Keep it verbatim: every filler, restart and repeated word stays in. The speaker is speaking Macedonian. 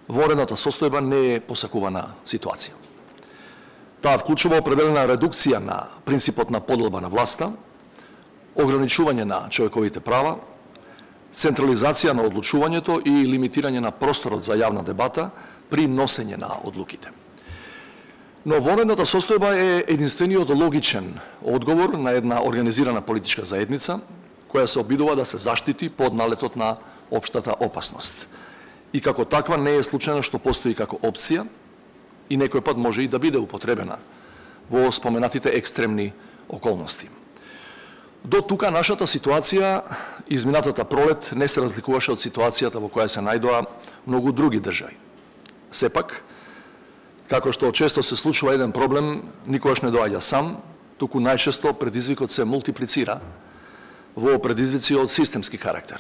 Вонредната состојба не е посакувана ситуација. Таа вклучува определена редукција на принципот на поделба на власта, ограничување на човековите права, централизација на одлучувањето и лимитирање на просторот за јавна дебата при носење на одлуките. Но вонредната состојба е единствениот логичен одговор на една организирана политичка заедница која се обидува да се заштити под налетот на општата опасност. И како таква не е случајно што постои како опција и некој пат може и да биде употребена во споменатите екстремни околности. До тука нашата ситуација изминатата пролет не се разликуваше од ситуацијата во која се најдоа многу други држави. Сепак, како што често се случува еден проблем, никогаш не доаѓа сам, туку најчесто предизвикот се мултиплицира во предизвици од системски карактер.